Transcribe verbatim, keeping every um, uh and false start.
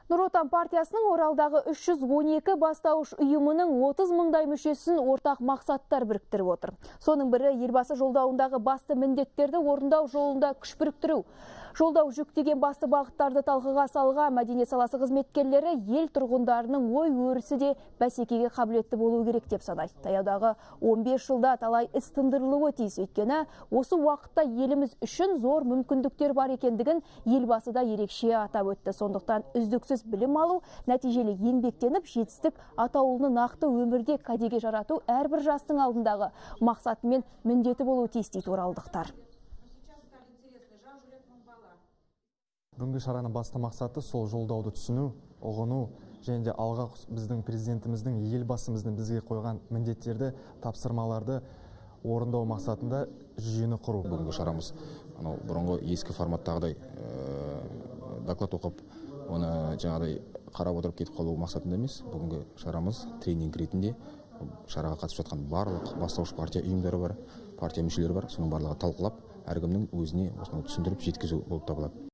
Нұр Отан партиясының Оралдағы үш жүз он екі бастауыш ұйымының отыз мыңдай мүшесін ортақ мақсаттар біріктіріп отыр. Соның бірі елбасы жолдауындағы басты міндеттерді орындау жолында күш біріктіру. Жолдау жүктеген басты бағыттарды талқыға салға мәдениет саласы қызметкерлері ел тұрғындарының ой өрісі де бәсекеге қабілетті болу керек деп санайды. Таяудағы он бес жылда талай іс тындырылуы тиіс, өйткені осы уақытта еліміз үшін зор мүмкіндіктер бар екендігін елбасы да ерекше атап өтті. Сондықтан үздіксіз білім алу, нәтижелі еңбектеніп, жетістік атаулыны нақты өмірде кәдеге жарату әрбір жастың алдындағы мақсаты мен міндеті болуы тиіс дейді оралдықтар. Бүгінгі шараның басты мақсаты сол жолдауды түсіну, ұғыну және де алға біздің президентіміздің, елбасымыздың бізге қойған міндеттерді, тапсырмаларды орындау мақсатында жүйені құру. Бүгінгі шарамыз бұрынғы ескі форматтағыдай доклад оқып, оны жаңағыдай қарап отырып кетіп қалу мақсатында емес. Бүгінгі шарамыз тренинг ретінде шараға қатысып жатқан барлық бастауыш партия ұйымдары бар, партия мүшелері бар, соның барлығы талқылап, әркімнің өзіне осыны түсіндіріп жеткізу болып табылады.